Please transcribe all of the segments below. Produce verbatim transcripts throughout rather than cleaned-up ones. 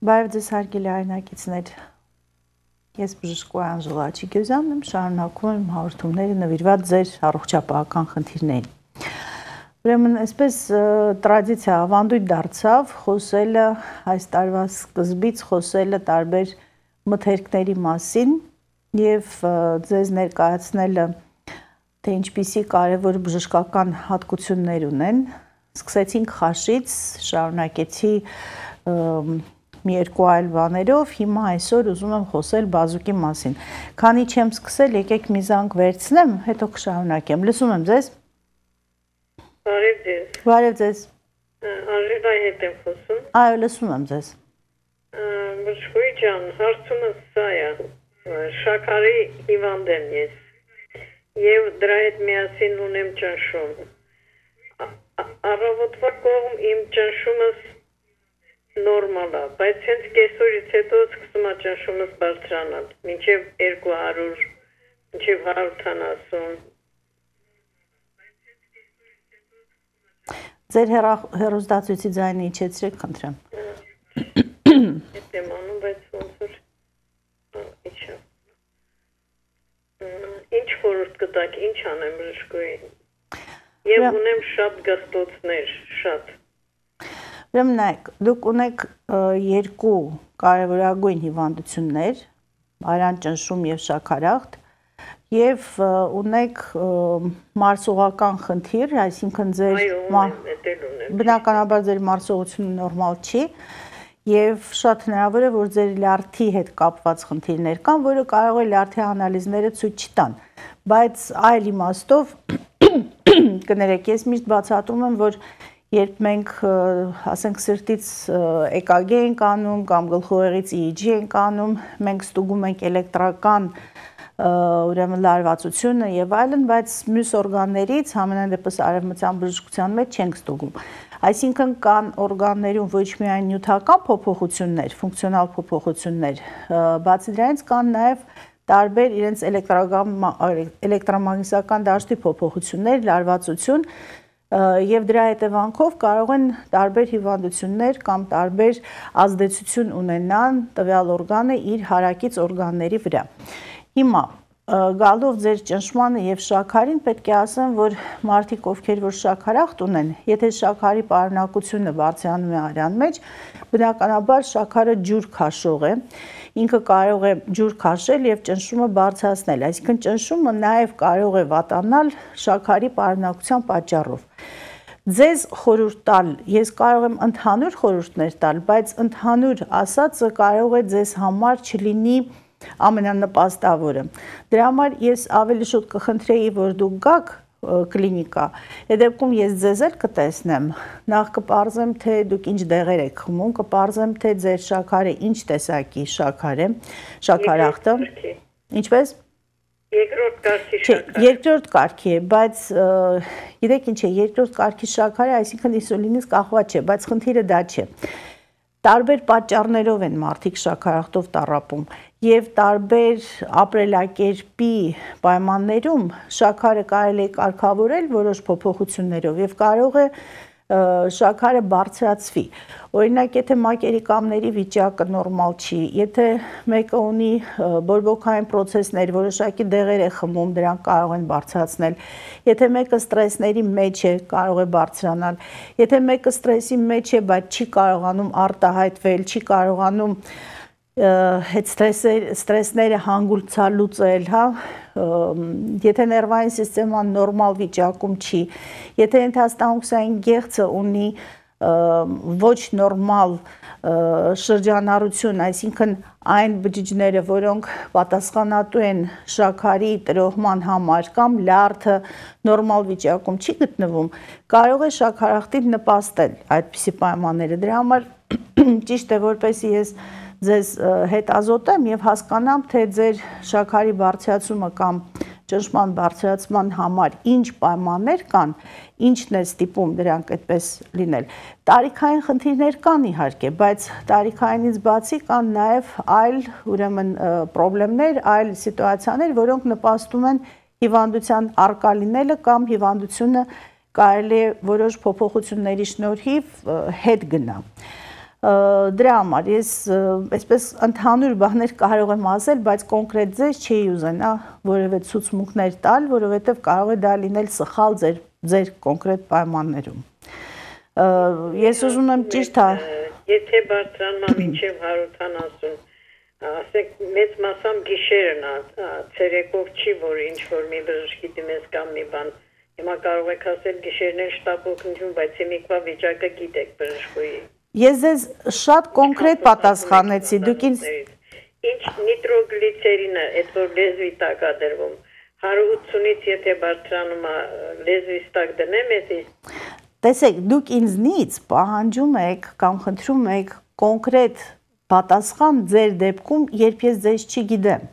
Բարև ձեզ հարգելի հայրենակիցներ, ես բժշկուհի Անժելա Աչիկոյանն եմ, շարունակում եմ հաղորդումները նվիրված ձեր առողջապահական խնդիրներին։ Ուրեմն, այսպես տրադիցիա ավանդույթ դարձավ խոսելը այս տարվա սկզբից խոսելը տարբեր մթերքների մասին եւ ձեզ ներկայացնելը թե ինչպիսի կարևոր բժշկական հատկություններ ունեն։ Սկսեցինք խաշից, շարունակեցի մի երկու այլ բաներով, հիմա այսօր ուզում եմ խոսել բազուկի մասին։ Քանի չեմ սկսել, եկեք մի զանգ վերցնեմ, հետո կշարունակեմ։ Լսում եմ ձեզ։ Բարև ձեզ։ Բարև ձեզ։ Անժելայի հետ եմ խոսում։ Այո, լսում եմ ձեզ։ Բժշկուհի ջան, հարցումը սա է։ Շաքարի հիվանդ եմ ես։ Եվ դրա հետ միասին ունեմ ճնշում։ Առավոտվա կողմ իմ ճնշումս նորմալ է, բայց հենց կեսօրից հետո սկսում է ճնշումս բարձրանալ, մինչև երկու հարյուր, մինչև հարյուր քսան։ Ձեր հեռուստացույցի ձայնը իջեցրեք, խնդրեմ։ Հետ եմ անում, բայց ոնց որ իջա։ Ինչ խորհուրդ կտաք, ինչ անեմ բժշկուհի։ Եվ ունեմ շատ գաղտոցներ, շատ։ Ուրեմն նայեք, դուք ունեք երկու կարևորագույն հիվանդություններ, արյան ճնշում եւ շաքարախտ, եւ ունեք մարսողական խնդիր, այսինքն ձեր բնականաբար ձեր մարսողությունը նորմալ չի, եւ շատ հնարավոր է, որ ձեր լյարդի հետ կապված խնդիրներ կան, որը կարող է լյարդի անալիզները ցույց չտան, բայց այլ իմաստով կներեք, ես միշտ բացատրում եմ, որ երբ մենք, ասենք, սրտից E K G ենք անում կամ գլխուղեղից E E G ենք անում, մենք ստուգում ենք էլեկտրական ուրեմն լարվածությունը եւ այլն, բայց մյուս օրգաններից համենայն դեպս արևմտյան բժշկության մեջ չենք ստուգում։ Այսինքն կան օրգաններում ոչ միայն նյութական փոփոխություններ, ֆունկցիոնալ փոփոխություններ, բացի դրանից կան նաեւ տարբեր իրենց էլեկտրամագնիսական դաշտի փոփոխություններ, լարվածություն, եւ դրա հետևանքով կարող են տարբեր հիվանդություններ կամ տարբեր ազդեցություն ունենան տվյալ օրգանը իր հարակից օրգանների վրա։ Հիմա գալով ձեր ճնշմանը եւ շաքարին պետք է ասեմ, որ մարդիկ, ովքեր որ շաքարախտ ունեն, եթե շաքարի պարունակությունը բարձրանում է արյան մեջ, բնականաբար շաքարը ջուր քաշող է, ինքը կարող է ջուր քաշել եւ ճնշումը բարձրացնել, այսինքն ճնշումը նաեւ կարող է վատանալ շաքարի պարունակության պատճառով։ Ձեզ խորհուրդ տալ, ես կարող եմ ընդհանուր խորհուրդներ տալ, բայց ընդհանուր ասածը կարող է ձեզ համար չլինի ամենանպաստավորը։ Դրա համար ես ավելի շուտ կխնդրեի, որ դուք գաք կլինիկա, այդ դեպքում ես ձեզ էլ կտեսնեմ, նախ կպարզեմ, թե դուք ինչ դեղեր եք խմում, կպարզեմ, թե ձեր շաքարը ինչ տեսակի շաքար է, շաքարախտը, ինչպես։ Երկրորդ կարգի շաքար։ Երկրորդ կարգի է, բայց գիտեք ինչ է, երկրորդ կարգի շաքարը, այսինքն ինսուլինից կախված չէ, բայց խնդիրը դա չէ։ Տարբեր պատճառներով են մարդիկ շաքարախտով տառապում եւ տարբեր ապրելակերպի պայմաններում շաքարը կարելի է կարգավորել որոշ փոփոխություններով եւ կարող է շաքարը բարձրացվի։ Օրինակ, եթե մակերիկամների վիճակը նորմալ չի, եթե մեկը ունի բորբոքային պրոցեսներ, որոշակի դեղեր է խմում, դրանք կարող են բարձրացնել, եթե մեկը ստրեսների մեջ է, կարող է բարձրանալ, եթե մեկը ստրեսի մեջ է, բայց չի կարողանում արտահայտվել, չի կարողանում հետ ստրեսները հանգուցալուծել, հա, եթե ներվային սիստեման նորմալ վիճակում չի, եթե ենթաստամոքսային գեղձը ունի ոչ նորմալ շրջանառություն, այսինքն այն բջիջները, որոնք պատասխանատու են շաքարի տրոհման համար կամ լյարդը նորմալ վիճակում չի գտնվում, կարող է շաքարախտին նպաստել այդպիսի պայմանները։ Դրա համար ճիշտ է, որպեսզի ես ձեզ հետազոտեմ եւ հասկանամ, թե ձեր շաքարի բարձրացումը կամ ճնշման բարձրացման համար ինչ պայմաններ կան, ինչն է ստիպում դրանք այդպես լինել։ Տարիքային խնդիրներ կան իհարկե, բայց տարիքայինից բացի կան նաեւ այլ ուրեմն խնդիրներ, այլ սիտուացիաներ, որոնք նպաստում են հիվանդության առկա լինելը կամ հիվանդությունը կարելի է որոշ փոփոխությունների շնորհիվ հետ գնա։ Դրա համար ես այսպես ընդհանուր բաներ կարող եմ ասել, բայց կոնկրետ ձեզ չի ուզենա որևէ ցուցմունքներ տալ, որովհետև կարող է դա լինել սխալ ձեր ձեր կոնկրետ պայմաններում։ Ես ուզում եմ ճիշտ հա Եթե բարձրանա մինչև հարյուր ութանասուն, ասեք մեծ մասամբ գիշերն է, ցերեկով չի, որ ինչ-որ մի բժշկի դիմես կամ մի բան, հիմա կարող եք ասել գիշերներ շտապ օգնություն, բայց հիմիկվա վիճակը գիտեք բժշկուի։ Ես ձեզ շատ կոնկրետ պատասխանեցի, դուք ինձ Ինչ նիտրոգլիցերինը, այդ որ լեզվի տակ է դրվում, հարյուր ութունից եթե բարձրանում է լեզվի տակ դնեմ, էսի Տեսեք, դուք ինձնից պահանջում եք կամ խնդրում եք կոնկրետ պատասխան ձեր դեպքում, երբ ես ձեզ չգիտեմ։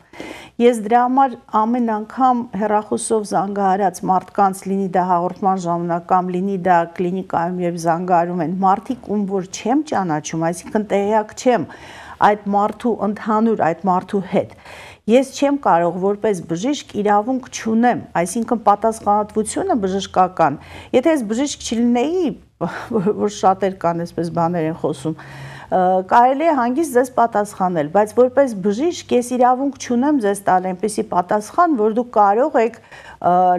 Ես դրա համար ամեն անգամ հեռախոսով զանգահարած մարդկանց լինի դա հաղորդման ժամանակ կամ լինի դա կլինիկայում երբ զանգահարում են մարդիկ, ում որ չեմ ճանաչում, այսինքն տեղյակ չեմ այդ մարդու ընդհանուր այդ մարդու հետ։ Ես չեմ կարող որպես բժիշկ իրավունք չունեմ, այսինքն պատասխանատվությունը բժշկական։ Եթե ես բժիշկ չլինեի, որ շատեր կան այսպես բաներ են խոսում, կարելի է հանգիստ ձեզ պատասխանել, բայց որպես բժիշկ ես իրավունք չունեմ ձեզ տալ այնպիսի պատասխան, որ դուք կարող եք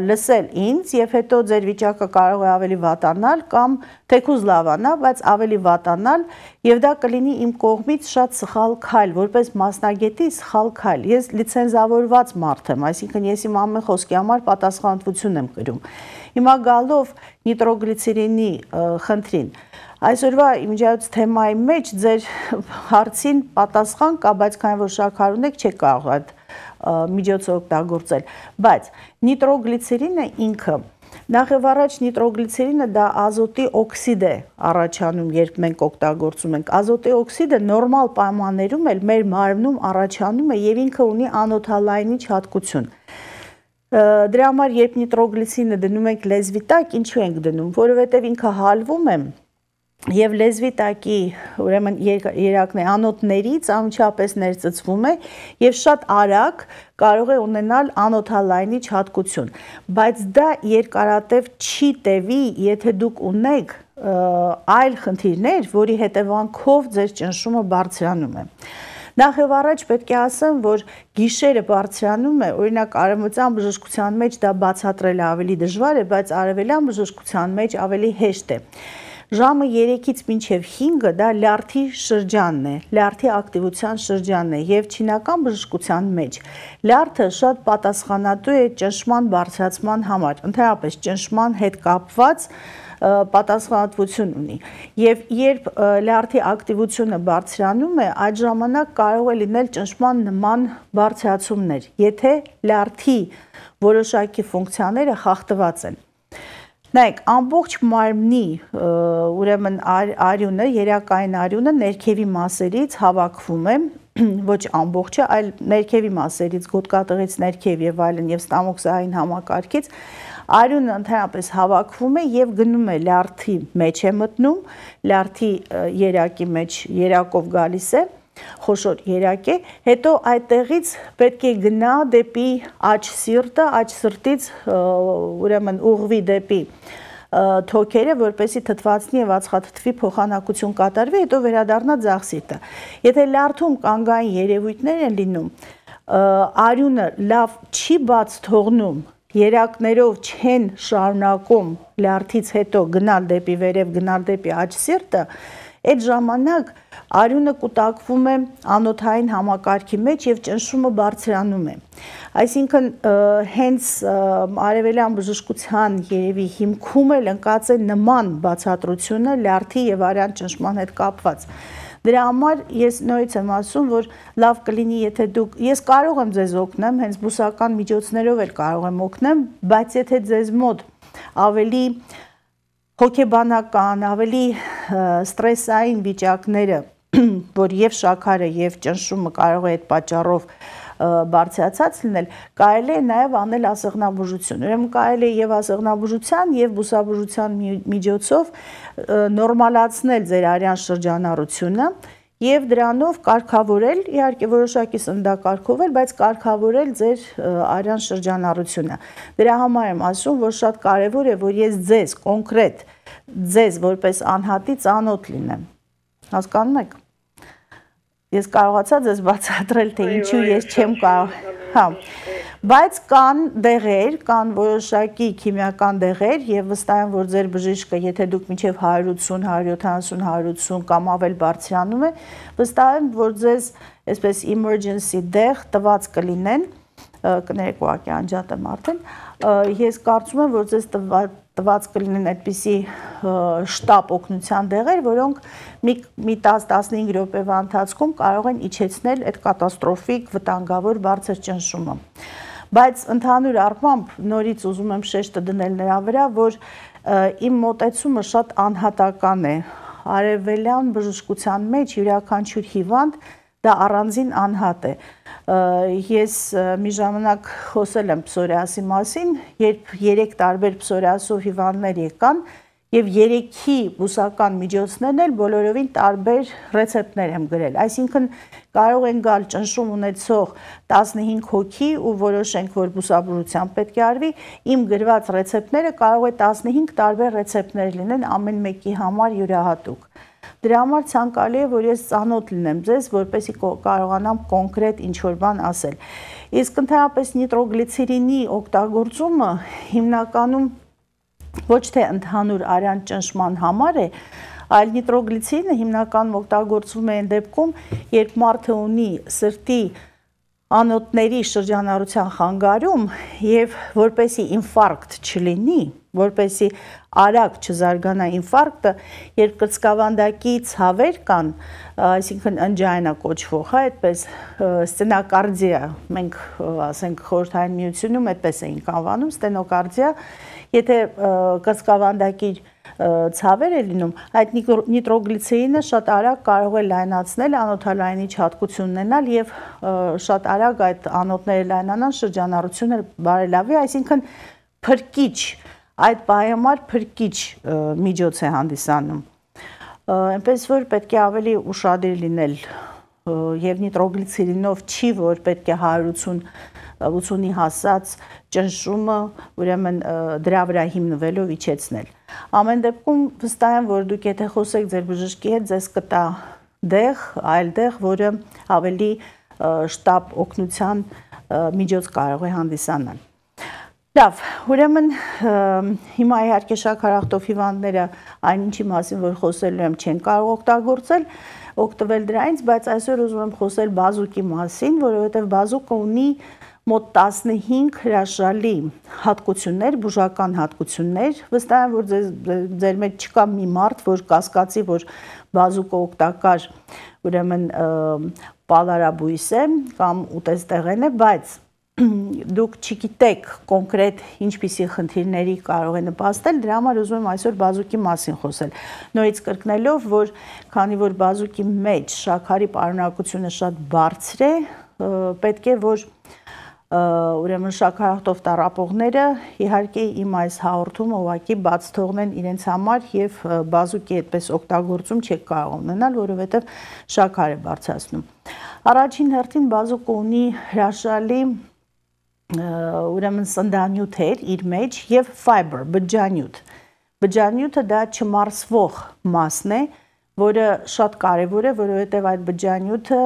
լսել ինձ եւ հետո ձեր վիճակը կարող է ավելի վատանալ կամ թեկուզ լավանա, բայց ավելի վատանալ եւ դա կլինի իմ կողմից շատ սխալ քայլ, որպես մասնագետի սխալ քայլ։ Ես լիցենզավորված մարդ եմ, այսինքն ես իմ ամեն խոսքի համար պատասխանատվություն եմ կրում։ Հիմա գալով նիտրոգլիցերինի խնդրին Այսօրվա իմիջիայոց թեմայի մեջ ձեր հարցին պատասխան կա, բայց քանի որ շաքար ունեք չեք կարող այդ միջոցը օգտագործել, բայց նիտրոգլիցերինը ինքը նախ եւ առաջ նիտրոգլիցերինը դա ազոտի օքսիդ է առաջանում, երբ մենք օգտագործում ենք։ Ազոտի օքսիդը նորմալ պայմաններում էլ մեր մարմնում առաջանում է եւ ինքը ունի անոթալայնիչ հատկություն։ Դրա համար երբ նիտրոգլիցերինը դնում ենք լեզվի տակ, ինչու ենք դնում, որովհետեւ ինքը հալվում է Եվ լեզվի տակի ուրեմն երակն է անոթներից անմիջապես ներծծվում է եւ շատ արագ կարող է ունենալ անոթալայնիչ հատկություն, բայց դա երկարատև չի տևի, եթե դուք ունեք այլ խնդիրներ, որի հետևանքով ձեր ճնշումը բարձրանում է։ Նախ եւ առաջ պետք է ասեմ, որ գիշերը բարձրանում է, օրինակ արևմտյան բժշկության մեջ դա բացատրելը ավելի դժվար է, բայց արևելյան բժշկության մեջ ավելի հեշտ է։ Ժամը երեքից մինչև հինգը դա լյարդի շրջանն է, լյարդի ակտիվության շրջանն է եւ չինական բժշկության մեջ լյարդը շատ պատասխանատու է ճնշման բարձրացման համար, ընդհանրապես ճնշման հետ կապված պատասխանատվություն ունի եւ երբ լյարդի ակտիվությունը բարձրանում է, այդ ժամանակ կարող է լինել ճնշման նման բարձրացումներ, եթե լյարդի որոշակի ֆունկցիաները խախտված են։ Նայեք, ամբողջ մարմնի ուրեմն արյունը, երակային արյունը ներքևի մասերից հավաքվում է, ոչ ամբողջը, այլ ներքևի մասերից, գոտկատեղից ներքև եւ այլն եւ ստամոքսային համակարգից արյունը ընդհանրապես հավաքվում է եւ գնում է լյարդի մեջ է մտնում, լյարդի երակի մեջ երակով գալիս է խոշոր երակ է, հետո այդտեղից պետք է գնա դեպի աջ սիրտը, աջ սրտից ուրեմն ուղղվի դեպի թոքերը, որպեսզի թթվածնի եւ ածխաթթվի փոխանակություն կատարվի, հետո վերադառնա ձախ սիրտը։ Եթե լյարդում կանգային երևույթներ են լինում, արյունը լավ չի բաց թողնում, երակներով չեն շարունակում լյարդից հետո գնալ դեպի վերև, գնալ դեպի աջ սիրտը, այդ ժամանակ արյունը կուտակվում է անոթային համակարգի մեջ եւ ճնշումը բարձրանում է։ Այսինքն հենց արևելյան բժշկության երևի հիմքում էլ ընկած է նման բացատրությունը լյարդի եւ արյան ճնշման հետ կապված։ Դրա համար ես նորից եմ ասում, որ լավ կլինի, եթե դուք ես կարող եմ ձեզ օգնեմ, հենց բուսական միջոցներով էլ կարող եմ օգնեմ, բայց եթե ձեզ մոտ ավելի հոգեբանական, ավելի ստրեսային վիճակները, որ եւ շաքարը եւ ճնշումը կարող է այդ պատճառով բարձրացած լինել, կարելի է նաեւ անել ասեղնաբուժություն։ Ուրեմն կարելի է եւ ասեղնաբուժության եւ բուսաբուժության միջոցով նորմալացնել ձեր արյան շրջանառությունը եւ դրանով կարգավորել, իհարկե որոշակի սննդակարգով էլ, բայց կարգավորել ձեր արյան շրջանառությունը։ Դրա համար եմ ասում, որ շատ կարեւոր է, որ ես ձեզ կոնկրետ ձեզ որպես անհատի ծանոթ լինեմ։ հասկանում եք։ Ես կարողացա ձեզ բացատրել, թե ինչու ես չեմ կարող, հա, բայց կան դեղեր, կան որոշակի քիմիական դեղեր եւ վստահ եմ, որ ձեր բժիշկը, եթե դուք մինչեւ հարյուր ութսուն, հարյուր յոթանասուն, հարյուր ութսուն կամ ավել բարձրանում է, վստահ եմ, որ ձեզ այսպես emergency դեղ տված կլինեն, կներեք ուղղակի անջատեմ արդեն, ես կարծում եմ, որ ձեզ տված կլինեն այդպիսի շտապ օգնության դեղեր, որոնք մի տասը տասնհինգ րոպեվա ընթացքում կարող են իջեցնել այդ կատաստրոֆիկ վտանգավոր բարձր ճնշումը։ Բայց ընդհանուր առմամբ նորից ուզում եմ շեշտը դնել նրա վրա, որ իմ մոտեցումը շատ անհատական է։ Արևելյան բժշկության մեջ յուրաքանչյուր հիվանդ դա առանձին անհատ է։ Ես մի ժամանակ խոսել եմ պսորիասի մասին, երբ երեք տարբեր պսորիասով հիվանդներ եկան եւ երեքի բուսական միջոցներն էլ բոլորովին տարբեր ռեցեպտներ եմ գրել։ Այսինքն կարող են գալ ճնշում ունեցող տասնհինգ հոգի ու որոշենք, որ բուսաբուժությամբ պետք է արվի, իմ գրված ռեցեպտները կարող է տասնհինգ տարբեր ռեցեպտներ լինեն ամեն մեկի համար յուրահատուկ։ Դրա համար ցանկալի է, որ ես ծանոթ լինեմ ձեզ, որպեսզի կարողանամ կոնկրետ ինչ-որ բան ասել։ Իսկ ընդհանրապես նիտրոգլիցերինի օգտագործումը հիմնականում ոչ թե ընդհանուր արյան ճնշման համար է, այլ նիտրոգլիցերինը հիմնականում օգտագործվում է այն դեպքում, երբ մարդը ունի սրտի անոթների շրջանառության խանգարում եւ որպեսի ինֆարկտ չլինի, որպեսի արագ չզարգանա ինֆարկտը, երբ կրծքավանդակի ցավեր կան, այսինքն ընջայնա կոչվող, հա, այդպես ստենոկարդիա, մենք ասենք խորհրդային միությունում այդպես էինք անվանում, ստենոկարդիա, եթե կրծքավանդակի ցավեր է լինում, այդ նիտրոգլիցերինը շատ արագ կարող է լայնացնել, անոթալայնիչ հատկություն ունենալ եւ շատ արագ այդ անոթները լայնանան, շրջանառությունը բարելավի, այսինքն փրկիչ, այդ պայմար փրկիչ միջոց է հանդիսանում։ Այնպես որ պետք է ավելի ուշադիր լինել եւ նիտրոգլիցերինով չի, որ պետք է հարյուր ութսուն ութսունի հասած ճնշումը, ուրեմն դրա վրա հիմնվելով իջեցնել։ Ամեն դեպքում վստահ եմ, որ դուք եթե խոսեք ձեր բժշկի հետ, ձեզ կտա դեղ, այլ դեղ, որը ավելի շտապ օգնության միջոց կարող է հանդիսանալ։ Լավ, ուրեմն հիմա իհարկե շաքարախտով հիվանդները այն ինչի մասին, որ խոսելու եմ, չեն կարող օգտագործել, օգտվել դրանից, բայց այսօր ուզում եմ խոսել բազուկի մասին, որովհետև բազուկը ունի մոտ տասնհինգ հրաշալի հատկություններ, բուժական հատկություններ, վստահ եմ, որ ձեր մեջ չկա մի մարդ, որ կասկածի, որ բազուկը օգտակար, ուրեմն պալարաբույս է կամ ուտեստեղեն է, բայց դուք չգիտեք կոնկրետ ինչպիսի խնդիրների կարող է նպաստել, դրա համար ուզում եմ այսօր բազուկի մասին խոսել։ Նորից կրկնելով, որ քանի որ բազուկի մեջ շաքարի պարունակությունը շատ բարձր է, պետք է որ ուրեմն շաքարախտով տառապողները իհարկե իմ այս հաղորդումը ուղղակի բաց թողնեն իրենց համար եւ բազուկի այդպես օգտագործում չեք կարող ունենալ, որովհետեւ շաքար է բարձրացնում։ Առաջին հերթին բազուկը ունի հրաշալի ուրեմն սննդանյութեր իր մեջ եւ fiber, բջջանյութ։ Բջջանյութը դա չմարսվող մասն է, որը շատ կարևոր է, որովհետեւ այդ բջջանյութը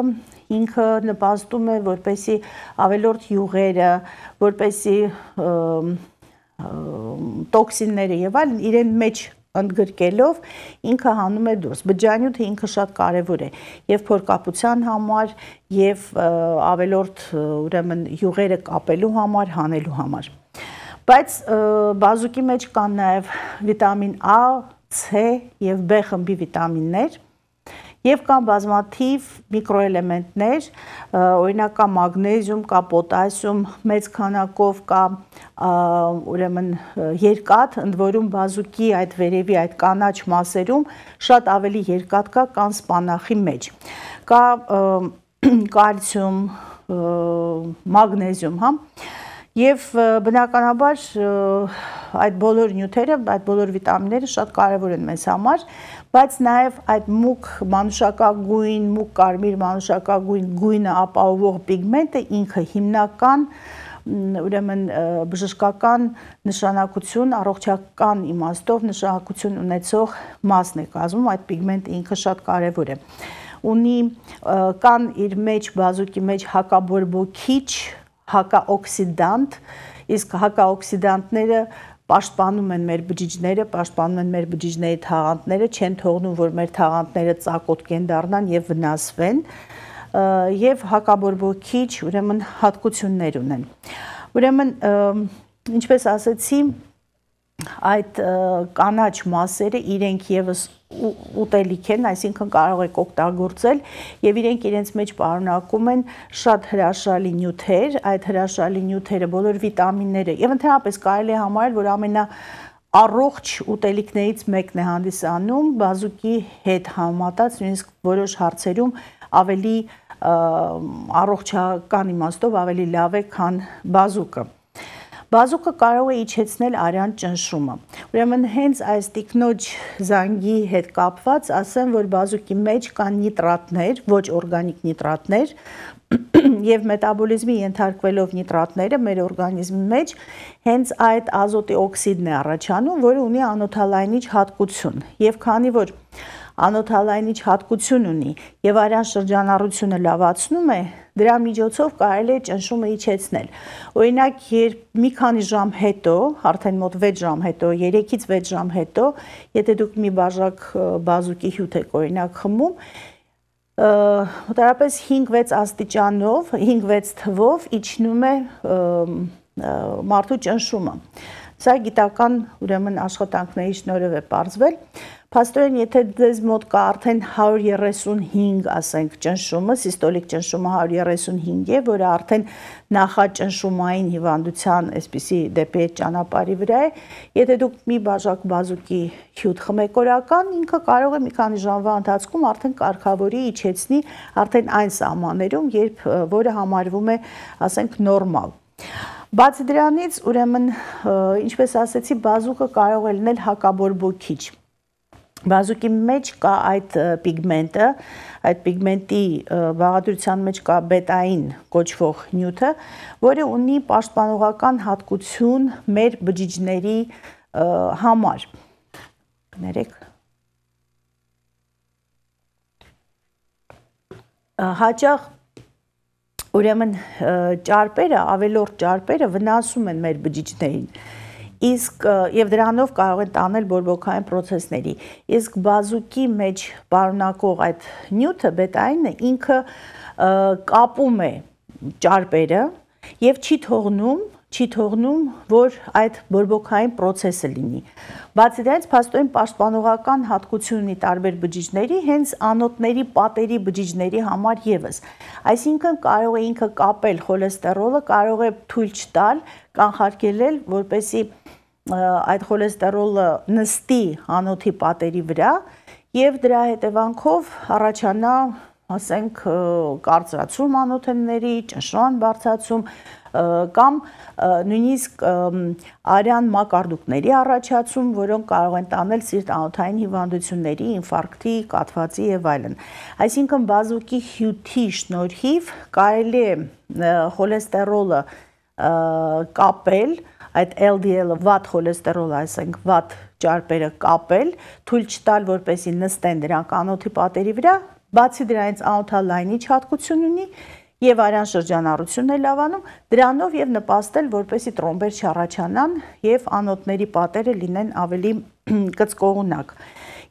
ինքը նպաստում է, որպեսի ավելորդ յուղերը, որպեսի տոքսինները եւ այլն իրեն մեջ ընդգրկելով ինքը հանում է դուրս։ Բջջանյութը ինքը շատ կարևոր է եւ փորկապության համար եւ ավելորդ ուրեմն յուղերը կապելու համար, հանելու համար։ Բայց բազուկի մեջ կան նաեւ վիտամին A, C եւ B խմբի վիտամիններ եւ կան բազմաթիվ միկրոէլեմենտներ, օրինակ կա մագնեզիում, կա պոտասիում, մեծ քանակով կա ուրեմն երկաթ, ընդ որում բազուկի այդ վերևի այդ կանաչ մասերում շատ ավելի երկաթ կա, քան սպանախի մեջ։ Կա կալցիում, մագնեզիում, հա։ Եվ բնականաբար այդ բոլոր նյութերը, այդ բոլոր վիտամինները շատ կարևոր են մեզ համար, բայց նաև այդ մուգ մանուշակագույն, մուգ կարմիր մանուշակագույն գույնը ապահովող պիգմենտը ինքը հիմնական ուրեմն բժշկական նշանակություն, առողջական իմաստով նշանակություն ունեցող մասն է կազմում, այդ պիգմենտը ինքը շատ կարևոր է։ Ունի կան իր մեջ բազուկի մեջ հակաբորբոքիչ, հակաօքսիդանտ, իսկ հակաօքսիդանտները պաշտպանում են մեր բջիջները, պաշտպանում են մեր բջիջների թաղանթները, չեն թողնում, որ մեր թաղանթները ծակոտկեն դառնան եւ վնասվեն, եւ հակաբորբոքիչ, ուրեմն հատկություններ ունեն։ Ուրեմն, ինչպես ասեցի, այդ կանաչ մասերը իրենք եւս ուտելիք են, այսինքն կարող եք օգտագործել եւ իրենք իրենց մեջ պարունակում են շատ հրաշալի նյութեր, այդ հրաշալի նյութերը, բոլոր վիտամինները եւ ընդհանրապես կարելի է համարել, որ ամենա առողջ ուտելիքներից մեկն է հանդիսանում բազուկի հետ համատած, նույնիսկ որոշ հարցերում ավելի առողջական իմաստով ավելի լավ է, քան բազուկը։ Բազուկը կարող է իջեցնել արյան ճնշումը։ Ուրեմն հենց այս տիկնոջ զանգի հետ կապված ասեմ, որ բազուկի մեջ կան նիտրատներ, ոչ օրգանիկ նիտրատներ, եւ մետաբոլիզմի ենթարկվելով նիտրատները մեր օրգանիզմի մեջ հենց այդ ազոտի օքսիդն է առաջանում, որը ունի անոթալայնիչ հատկություն։ Եվ քանի որ անոթալայնիչ հատկություն ունի եւ արյան շրջանառությունը լավացնում է, դրա միջոցով կարելի է ճնշումը իջեցնել։ Օրինակ, երբ մի քանի ժամ հետո, արդեն մոտ վեց ժամ հետո, երեքից վեց ժամ հետո, եթե դուք մի բաժակ բազուկի հյութ եք օրինակ խմում, մոտավորապես հինգ-վեց աստիճանով, հինգ-վեց թվով իջնում է մարդու ճնշումը։ Սա գիտական ուրեմն աշխատանքների շնորհիվ է պարզվել։ Փաստորեն, եթե ձեզ մոտ կա արդեն հարյուր երեսունհինգ, ասենք, ճնշումը, սիստոլիկ ճնշումը հարյուր երեսունհինգ է, որը արդեն նախաճնշումային հիվանդության այսպիսի դեպի այդ ճանապարհի վրա է, եթե դուք մի բաժակ բազուկի հյութ խմեք օրական, ինքը կարող է մի քանի ժամվա ընթացքում արդեն կարգավորի, իջեցնի արդեն այն սահմաններում, երբ որը համարվում է, ասենք, նորմալ։ Բացի դրանից, ուրեմն, ինչպես ասեցի, բազուկը կարող է լինել հակաբորբոքիչ։ Բազուկի մեջ կա այդ պիգմենտը, այդ պիգմենտի բաղադրության մեջ կա բետային կոչվող նյութը, որը ունի պաշտպանողական հատկություն մեր բջիջների համար։ Կներեք։ Հաճախ ուրեմն ճարպերը, ավելորդ ճարպերը վնասում են մեր բջիջներին։ Իսկ եւ դրանով կարող են տանել բորբոքային process-ների։ Իսկ բազուկի մեջ պարունակող այդ նյութը, բետայինը, ինքը կապում է ճարպերը եւ չի թողնում, չի թողնում, որ այդ բորբոքային process-ը լինի։ Բացի դրանից, փաստորեն պաշտպանողական հատկություն ունի տարբեր բջիջների, հենց անոթների պատերի բջիջների համար եւս։ Այսինքն կարող է ինքը կապել խոլեստերոլը, կարող է թույլ չտալ, կանխարգելել, որպեսզի այդ խոլեստերոլը նստի անոթի պատերի վրա եւ դրա հետևանքով առաջանա, ասենք, կարծրացում անոթների, ճնշման բարձրացում կամ նույնիսկ արյան մակարդուկների առաջացում, որոնք կարող են տանել սիրտ-անոթային հիվանդությունների, ինֆարկտի, կաթվածի եւ այլն։ Այսինքն բազուկի հյութի շնորհիվ կարելի է խոլեստերոլը կապել, այդ L D L-ը վատ խոլեստերոլը, այսինքն վատ ճարպերը կապել, թույլ չտալ, որպեսզի նստեն դրանք անոթի պատերի վրա, բացի դրանից անոթալայնիչ հատկություն ունի եւ արյան շրջանառությունն է լավանում, դրանով եւ նպաստել, որպեսզի տրոմբեր չառաջանան եւ անոթների պատերը լինեն ավելի կծկողունակ։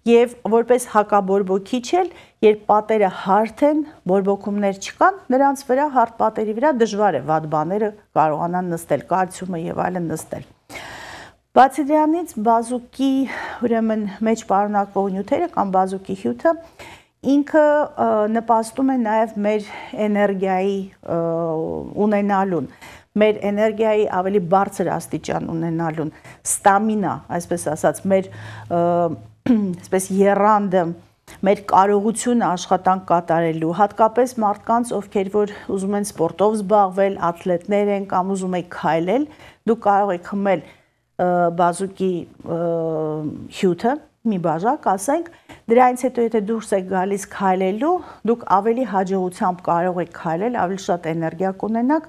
Եվ որպես հակաբորբոքիչ էլ, երբ պատերը հարթ են, բորբոքումներ չկան, նրանց վրա հարթ պատերի վրա դժվար է վատ բաները կարողանան նստել, կալցիումը եւ այլն նստել։ Բացի դրանից, բազուկի ուրեմն մեջ պարունակվող նյութերը կամ բազուկի հյութը ինքը նպաստում է նաև մեր էներգիայի ունենալուն, մեր էներգիայի ավելի բարձր աստիճան ունենալուն, ստամինա, այսպես ասած, մեր այսպես եռանդը, մեր կարողությունը աշխատանք կատարելու, հատկապես մարդկանց, ովքեր որ ուզում են սպորտով զբաղվել, աթլետներ են կամ ուզում եք քայլել, դուք կարող եք խմել բազուկի հյութը, մի բաժակ, ասենք, դրանից հետո եթե դուրս եք գալիս քայլելու, դուք ավելի հաջողությամբ կարող եք քայլել, ավելի շատ էներգիա կունենաք,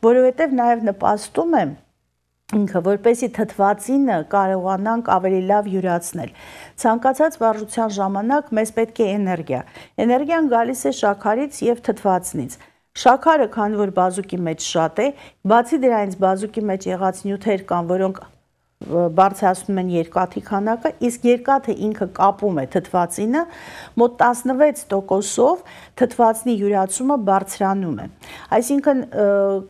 որովհետև նաև նպաստում է ինքը, որպեսզի թթվածինը կարողանանք ավելի լավ յուրացնել։ Ցանկացած վարժության ժամանակ մեզ պետք է էներգիա։ Էներգիան գալիս է շաքարից եւ թթվածնից։ Շաքարը, քանի որ բազուկի մեջ շատ է, բացի դրանից բազուկի մեջ եղած նյութեր կան, որոնք բարձրացնում են երկաթի քանակը, իսկ երկաթը ինքը կապում է թթվածինը, մոտ տասնվեց տոկոսով թթվածնի յուրացումը բարձրանում է։ Այսինքն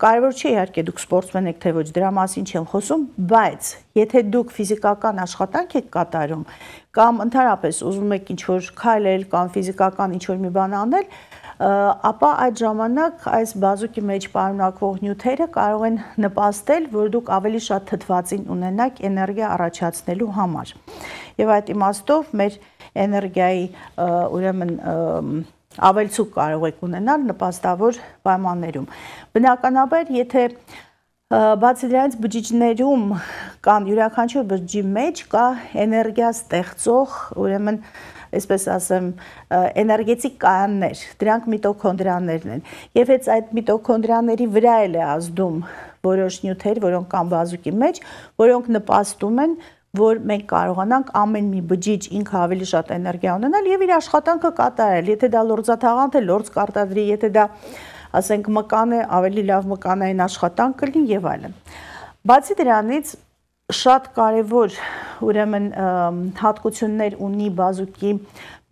կարևոր չէ իհարկե դուք սպորտսմեն եք, թե ոչ, դրա մասին չեմ խոսում, բայց եթե դուք ֆիզիկական աշխատանք եք կատարում կամ ընդհանրապես ուզում եք ինչ-որ քայլել կամ ֆիզիկական ինչ-որ մի բան անել, ապա այդ ժամանակ այս բազուկի մեջ պարունակվող նյութերը կարող են նպաստել, որ դուք ավելի շատ թթվածին ունենաք էներգիա առաջացնելու համար։ Եվ այդ իմաստով մեր էներգիայի ուրեմն ավելցուկ կարող եք ունենալ նպաստավոր պայմաններում։ Բնականաբար, եթե բացի դրանից բջիջներում կան յուրաքանչյուր բջջի մեջ կա էներգիա ստեղծող, ուրեմն այսպես ասեմ, էներգետիկ կայաններ, դրանք միտոքոնդրիաներն են։ Եվ հենց այդ միտոքոնդրիաների վրա էլ է ազդում որոշ նյութեր, որոնք կան բազուկի մեջ, որոնք նպաստում են, որ մենք կարողանանք ամեն մի բջիջ ինքը ավելի շատ էներգիա ունենալ եւ իր աշխատանքը կատարել։ Եթե դա լորձաթաղանթ է, լորձ կարտադրի, եթե դա, ասենք, մկան է, ավելի լավ մկանային աշխատանք կլինի եւ այլն։ Բացի դրանից շատ կարևոր ուրեմն հատկություններ ունի բազուկի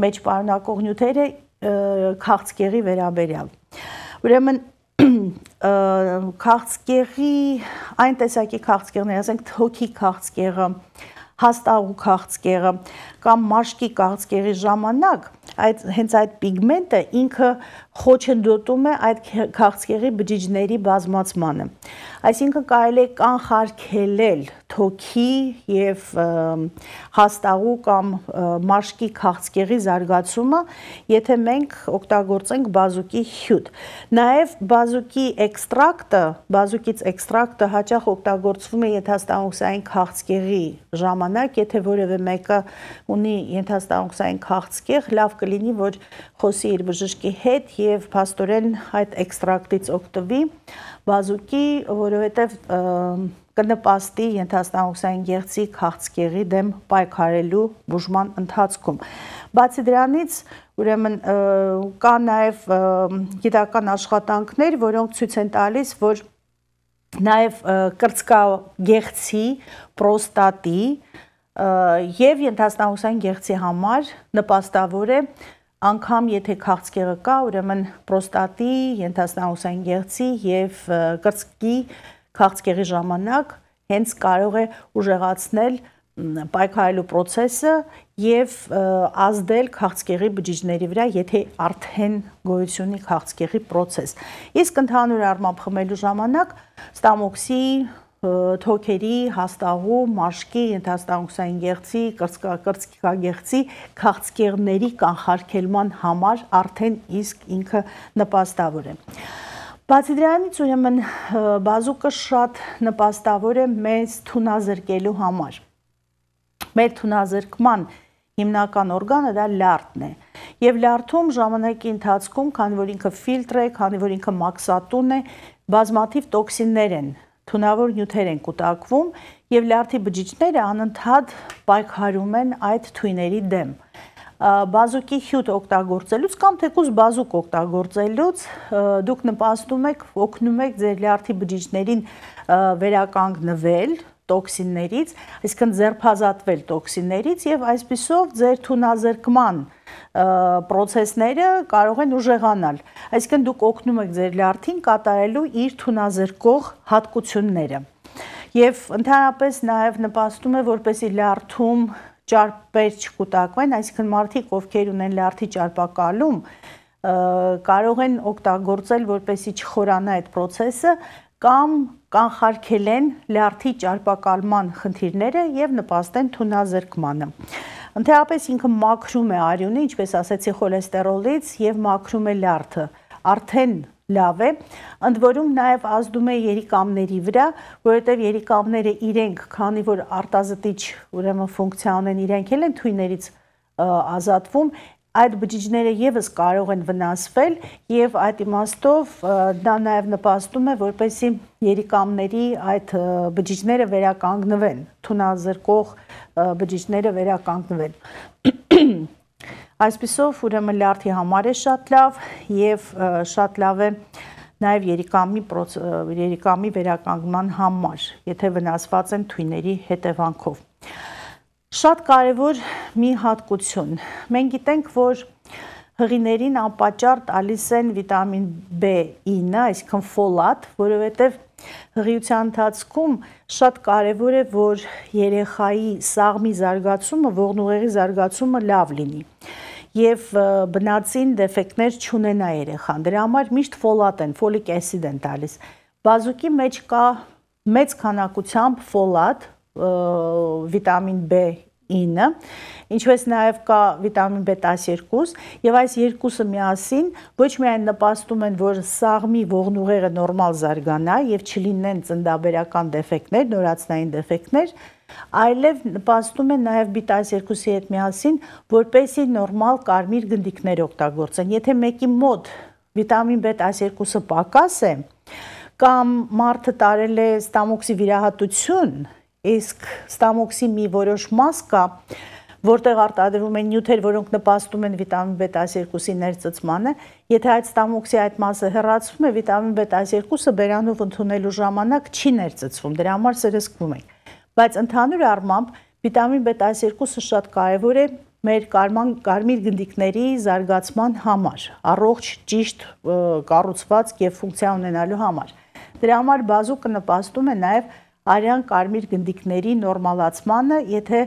մեջ պարունակող նյութերը քաղցկեղի վերաբերյալ։ Ուրեմն քաղցկեղի այն տեսակի քաղցկեղներ, ասենք թոքի քաղցկեղը, հաստաղու քաղցկեղը կամ մաշկի քաղցկեղի ժամանակ այդ հենց այդ պիգմենտը ինքը խոչընդոտում է այդ քաղցկեղի բջիջների բազմացմանը։ Այսինքն կարելի է կանխարգելել թոքի եւ հաստաղու կամ մաշկի քաղցկեղի զարգացումը, եթե մենք օգտագործենք բազուկի հյութ։ Նաեւ բազուկի էքստրակտը, բազուկից էքստրակտը հաճախ օգտագործվում է ենթաստամոքսային քաղցկեղի ժամանակ, եթե որևէ մեկը ունի ենթաստամոքսային քաղցկեղ, լավ կլինի, որ խոսի իր բժշկի հետ եւ փաստորեն այդ էքստրակտից օգտվի բազուկի, որովհետեւ կնպաստի ենթաստամոքսային գեղձի քաղցկեղի դեմ պայքարելու բուժման ընթացքում։ Բացի դրանից, ուրեմն կա նաեւ գիտական աշխատանքներ, որոնք ցույց են տալիս, որ նաեւ կրծքագեղձի, պրոստատի եւ ենթաստամոքսային գեղձի համար նպաստավոր է, անգամ եթե քաղցկեղը կա, ուրեմն պրոստատի, ենթաստամոքսային գեղձի եւ կրծքի քաղցկեղի ժամանակ հենց կարող է ուժեղացնել պայքարելու process-ը եւ ազդել քաղցկեղի բջիջների վրա, եթե արդեն գոյություն ունի քաղցկեղի process։ Իսկ ընդհանուր առմամբ խմելու ժամանակ ստամոքսի, թոքերի, հաստաղու, մաշկի, ենթաստամոքսային գեղձի, կրծքագեղձի քաղցկեղների կանխարգելման համար արդեն իսկ ինքը նպաստավոր է։ Բացի դրանից, ուրեմն բազուկը շատ նպաստավոր է մեզ թունազրկելու համար։ Մեր թունազրկման հիմնական օրգանը դա լյարդն է։ Եվ լյարդում ժամանակի ընթացքում, քանի որ ինքը ֆիլտր է, քանի որ ինքը մաքսատուն է, բազմաթիվ տոքսիններ են, թունավոր նյութեր են կուտակվում եւ լյարդի բջիջները անընդհատ պայքարում են այդ թույների դեմ։ Բազուկի հյութ օգտագործելուց կամ թեկուզ բազուկ օգտագործելուց դուք նպաստում եք, օգնում եք ձեր լյարդի բջիջներին վերականգնվել տոքսիններից, այսինքն ձերբազատվել տոքսիններից եւ այսպիսով ձեր թունազրկման process-ները կարող են ուժեղանալ։ Այսինքն դուք օգնում եք ձեր լյարդին կատարելու իր թունազրկող հատկությունները։ Եվ ընդհանրապես նաեւ նպաստում է, որպեսզի լյարդում ճարպեր չկուտակվեն, այսինքն մարդիկ, ովքեր ունեն լյարդի ճարպակալում, կարող են օգտագործել, որպեսզի չխորանա այդ process-ը, կամ կանխարգելեն լյարդի ճարպակալման խնդիրները եւ նպաստեն թունազրկմանը։ Ընդհանրապես ինքը մաքրում է արյունը, ինչպես ասեցի, խոլեստերոլից եւ մաքրում է լյարդը։ Արդեն լավ է, ընդ որում նաեւ ազդում է երիկամների վրա, որովհետեւ երիկամները իրենք, քանի որ արտազտիչ ուրեմն ֆունկցիա ունեն, իրենք էլ են թույներից ազատվում, այդ բջիջները եւս կարող են վնասվել եւ այդ իմաստով դա նաեւ նպաստում է որպեսզի երիկամների այդ բջիջները վերականգնվեն, թունազրկող բջիջները վերականգնվեն։ Այսպիսով ուրեմն լյարդի համար է շատ լավ եւ շատ լավ է նաեւ երիկամի երիկամի վերականգնման համար, եթե վնասված են թույների հետևանքով։ Շատ կարևոր մի հատկություն։ Մենք գիտենք, որ հղիներին անպատճառ տալիս են վիտամին B ինը, այսինքն ֆոլատ, որովհետև հղիության ընթացքում շատ կարևոր է, որ երեխայի սաղմի զարգացումը, ողնուղեղի զարգացումը լավ լինի եւ բնածին դեֆեկտներ չունենա երեխան։ Դրա համար միշտ ֆոլատ են, ֆոլիկ էսիդ են տալիս։ Բազուկի մեջ կա մեծ քանակությամբ ֆոլատ, վիտամին B ինը, ինչպես նաև կա վիտամին B տասնյոթ եւ այս երկուսը միասին ոչ միայն նպաստում են, որ սաղմի ողնուղեղը նորմալ զարգանա եւ չլինեն ծննդաբերական դեֆեկտներ, նորածնային դեֆեկտներ, այլև նպաստում են նաև B տասնյոթի հետ միասին, որպեսզի նորմալ կարմիր գնդիկներ օգտագործեն։ Եթե մեկի մոտ վիտամին B տասնյոթը պակաս է, կամ մարդը տարել է ստամոքսի վիրահատություն, իսկ ստամոքսի մի որոշ մաս կա, որտեղ արտադրվում են նյութեր, որոնք նպաստում են վիտամին B տասնյոթի ներծծմանը, եթե այդ ստամոքսի այդ մասը հեռացվում է, վիտամին B տասնյոթը բերանով ընդունելու ժամանակ չի ներծծվում, դրա համար սրսկվում ենք։ Բայց ընդհանուր առմամբ վիտամին B տասնյոթը շատ կարևոր է մեր կարմիր գնդիկների զարգացման համար, առողջ, ճիշտ կառուցվածք եւ ֆունկցիա ունենալու համար։ Դրա համար բազուկը նպաստում է նաեւ արյան կարմիր գնդիկների նորմալացմանը, եթե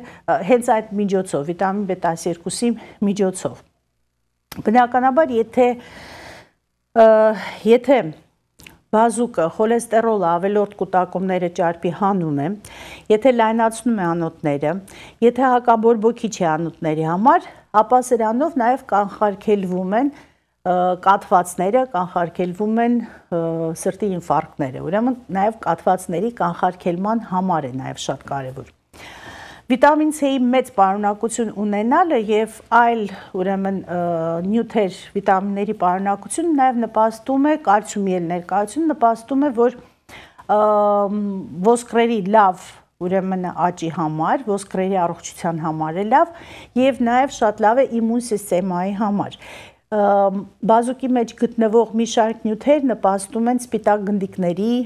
հենց այդ միջոցով, վիտամին B տասնյոթի միջոցով։ Բնականաբար, եթե եթե բազուկը խոլեստերոլը ավելորդ կուտակումները ճարպի հանում է, եթե լայնացնում է անոթները, եթե հակաբորբոքիչ է անոթների համար, ապա սրանով նաև կանխարգելվում են կաթվածները, կանխարգելվում են սրտի ինֆարկտները, ուրեմն նաև կաթվածների կանխարգելման համար է նաև շատ կարևոր։ Վիտամին C-ի մեծ պարունակություն ունենալը եւ այլ ուրեմն նյութեր, վիտամինների պարունակությունը նաև նպաստում է, կալցիումի ներկայությունը նպաստում է, որ ոսկրերի լավ ուրեմն աճի համար, ոսկրերի առողջության համար է լավ եւ նաև շատ լավ է իմուն սիստեմայի համար։ Բազուկի մեջ գտնվող մի շարք նյութեր նպաստում են սպիտակ գնդիկների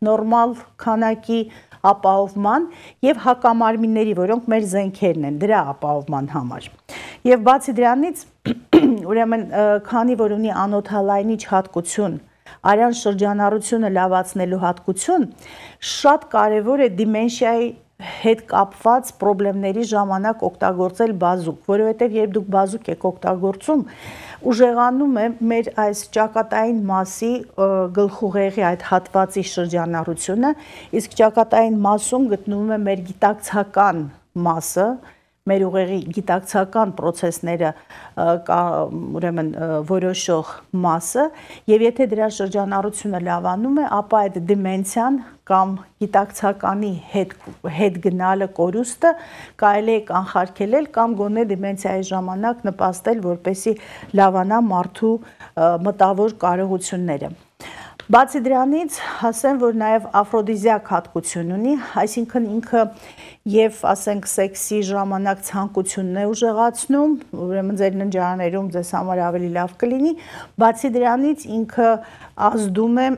նորմալ քանակի ապահովման եւ հակամարմինների, որոնք մեր զենքերն են, դրա ապահովման համար։ Եվ բացի դրանից, ուրեմն քանի որ ունի անոթալայնիչ հատկություն, արյան շրջանառությունը լավացնելու հատկություն, շատ կարևոր է դիմենշիայի հետ կապված խնդիրների ժամանակ օգտագործել բազուկ, որովհետև երբ դուք բազուկ եք օգտագործում, ուժեղանում է մեր այս ճակատային մասի գլխուղեղի այդ հատվածի շրջանառությունը, իսկ ճակատային մասում գտնվում է մեր գիտակցական մասը, մեր ուղեղի գիտակցական process-ները ուրեմն որոշող մասը, եւ եթե դրա շրջանառությունը լավանում է, ապա այդ դիմենցիան կամ գիտակցականի հետ հետ գնալը կորուստը կարելի է կանխարգելել կամ գոնե դիմենցիայի ժամանակ նպաստել, որպեսզի լավանա մարդու մտավոր կարողությունները։ Բացի դրանից, ասեմ, որ նաև աֆրոդիզիակ հատկություն ունի, այսինքն ինքը եւ ասենք սեքսի ժամանակ ցանկությունն է ուժեղացնում, ուրեմն ձեր ննջարաներում ձեզ համար ավելի լավ կլինի, բացի դրանից ինքը ազդում է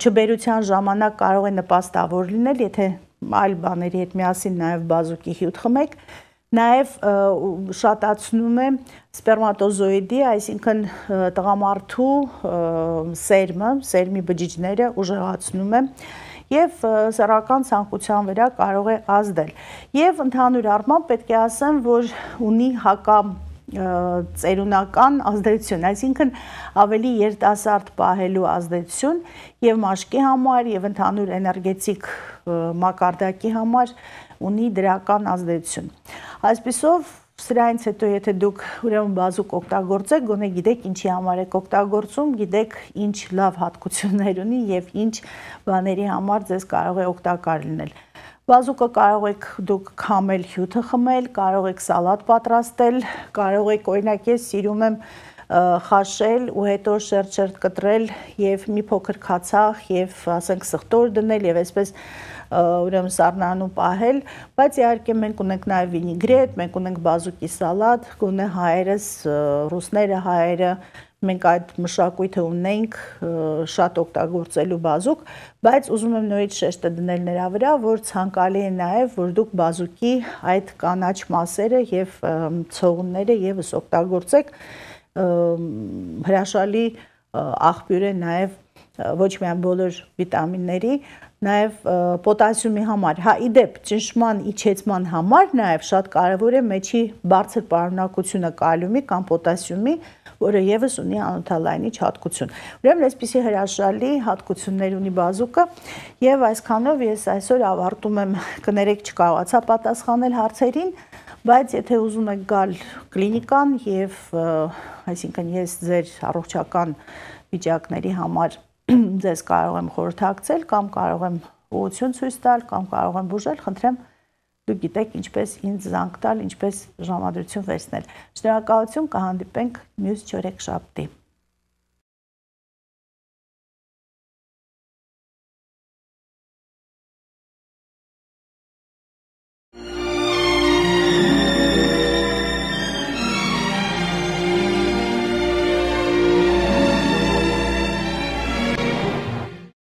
չբերության ժամանակ կարող է նպաստավոր լինել, եթե այլ բաների հետ միասին նաև բազուկի հյութ խմեք, նաև շատացնում է սպերմատոզոիդի, այսինքն տղամարդու սերմը, սերմի բջիջները ուժեղացնում է եւ սեռական ցանկության վրա կարող է ազդել։ Եվ ընդհանուր առմամբ պետք է ասեմ, որ ունի հակա ծերունական ազդեցություն, այսինքն ավելի երիտասարդ պահելու ազդեցություն եւ մաշկի համար եւ ընդհանուր էներգետիկ մակարդակի համար ունի դրական ազդեցություն։ Այսպիսով, սրանից հետո եթե դուք ուրեմն բազուկ օգտագործեք, գոնե գիտեք ինչի համար եք օգտագործում, գիտեք ինչ լավ հատկություններ ունի եւ ինչ բաների համար ձեզ կարող է օգտակար լինել։ Բազուկը կարող եք դուք քամել, հյութը խմել, կարող եք սալատ պատրաստել, կարող եք օրինակ ես սիրում եմ խաշել ու հետո շերտ-շերտ կտրել եւ մի փոքր քացախ եւ ասենք սխտոր դնել եւ այսպես ուրեմն սառնանում պահել, բայց իհարկե մենք ունենք նաեւ վինիգրետ, մենք ունենք բազուկի սալատ, գոնե հայերս, ռուսները, հայերը մենք այդ մշակույթը ունենք շատ օգտագործելու բազուկ, բայց ուզում եմ նորից շեշտը դնել նրա վրա, որ ցանկալի է նաև, որ դուք բազուկի այդ կանաչ մասերը եւ ցողունները եւս օգտագործեք, հրաշալի աղբյուր է նաև ոչ միայն բոլոր վիտամինների, նաև պոտասիումի համար, հա իդեպ ճնշման իջեցման համար նաև շատ կարևոր է մեջի բարձր պարունակությունը կալիումի կամ պոտասիումի, որը եւս ունի անոթալայնիչ հատկություն։ Ուրեմն այսպիսի հրաշալի հատկություններ ունի բազուկը եւ այսքանով ես այսօր ավարտում եմ, կներեք չկարողացա պատասխանել հարցերին, բայց եթե ուզում եք գալ կլինիկան եւ այսինքն ես ձեր առողջական վիճակների համար ձեզ կարող եմ խորհրդակցել կամ կարող եմ ուղղություն ցույց տալ կամ կարող եմ բուժել, խնդրեմ դուք գիտեք ինչպես ինձ զանգ տալ, ինչպես ժամադրություն վերցնել։ Շնորհակալություն, կհանդիպենք մյուս չորեքշաբթի։